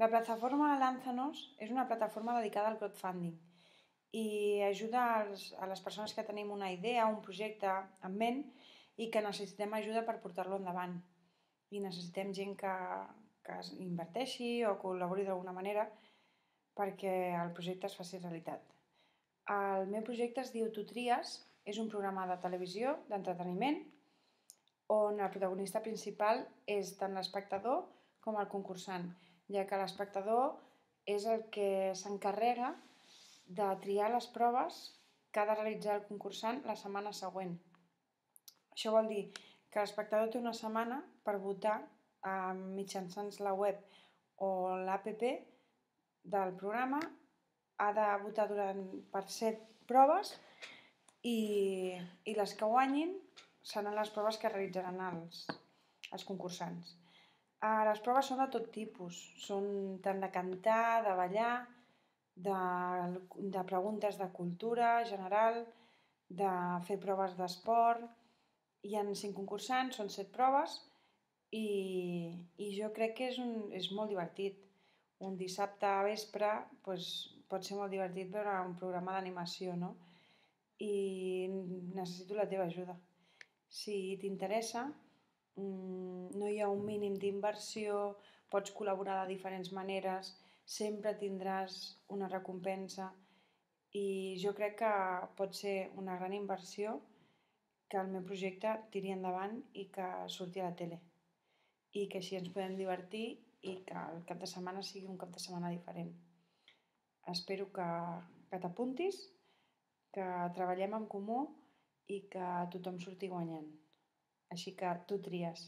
La plataforma Lánzanos és una plataforma dedicada al crowdfunding i ajuda a les persones que tenim una idea, un projecte en ment i que necessitem ajuda per portar-lo endavant. I necessitem gent que inverteixi o col·labori d'alguna manera perquè el projecte es faci realitat. El meu projecte es diu Tu tries, és un programa de televisió, d'entreteniment, on el protagonista principal és tant l'espectador com el concursant, ja que l'espectador és el que s'encarrega de triar les proves que ha de realitzar el concursant la setmana següent. Això vol dir que l'espectador té una setmana per votar mitjançant la web o l'app del programa, ha de votar per 7 proves i les que guanyin seran les proves que realitzaran els concursants. Les proves són de tot tipus, són tant de cantar, de ballar, de preguntes de cultura general, de fer proves d'esport. Hi ha 5 concursants, són 7 proves i jo crec que és molt divertit. Un dissabte a vespre pot ser molt divertit veure un programa d'animació, no? I necessito la teva ajuda. Si t'interessa, no hi ha un mínim d'inversió, pots col·laborar de diferents maneres, sempre tindràs una recompensa i jo crec que pot ser una gran inversió que el meu projecte tiri endavant i que surti a la tele i que així ens podem divertir i que el cap de setmana sigui un cap de setmana diferent. Espero que t'apuntis, que treballem en comú i que tothom surti guanyant. Així que tu tries.